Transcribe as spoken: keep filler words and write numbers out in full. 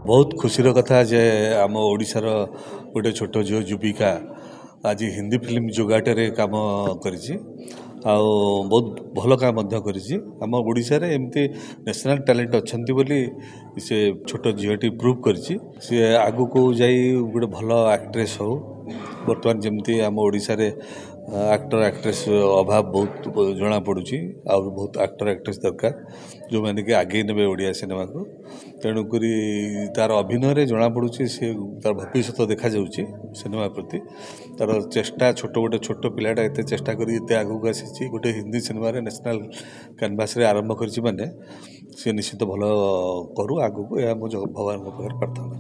ବହୁତ ଖୁସିର କଥା ଯେ ଆମ ଓଡ଼ିଶାର ଗୋଟେ ଛୋଟ ଝିଅ ଯୁବିକା ଆଜି ହିନ୍ଦୀ ଫିଲ୍ମ ଜଗତରେ କାମ କରିଛି ଆଉ ବହୁତ ଭଲ କାମ ମଧ୍ୟ କରିଛି। ଆମ ଓଡ଼ିଶାରେ ଏମିତି ନ୍ୟାସନାଲ୍ ଟ୍ୟାଲେଣ୍ଟ ଅଛନ୍ତି ବୋଲି ସେ ଛୋଟ ଝିଅଟି ପ୍ରୁଭ୍ କରିଛି। ସିଏ ଆଗକୁ ଯାଇ ଗୋଟେ ଭଲ ଆକ୍ଟ୍ରେସ୍ ହଉ। ବର୍ତ୍ତମାନ ଯେମିତି ଆମ ଓଡ଼ିଶାରେ ଆକ୍ଟର ଆକ୍ଟ୍ରେସ୍ ଅଭାବ ବହୁତ ଜଣାପଡ଼ୁଛି, ଆଉ ବହୁତ ଆକ୍ଟର ଆକ୍ଟ୍ରେସ୍ ଦରକାର ଯେଉଁମାନେ କି ଆଗେଇ ନେବେ ଓଡ଼ିଆ ସିନେମାକୁ। ତେଣୁକରି ତା'ର ଅଭିନୟରେ ଜଣାପଡ଼ୁଛି, ସେ ତା'ର ଭବିଷ୍ୟତ ଦେଖାଯାଉଛି ସିନେମା ପ୍ରତି ତା'ର ଚେଷ୍ଟା। ଛୋଟ ଗୋଟେ ଛୋଟ ପିଲାଟା ଏତେ ଚେଷ୍ଟା କରି ଏତେ ଆଗକୁ ଆସିଛି, ଗୋଟେ ହିନ୍ଦୀ ସିନେମାରେ ନ୍ୟାସନାଲ୍ କ୍ୟାନଭାସ୍ରେ ଆରମ୍ଭ କରିଛି, ମାନେ ସେ ନିଶ୍ଚିତ ଭଲ କରୁ ଆଗକୁ, ଏହା ମୋ ଭଗବାନଙ୍କ ପାଖରେ ପ୍ରାର୍ଥନା।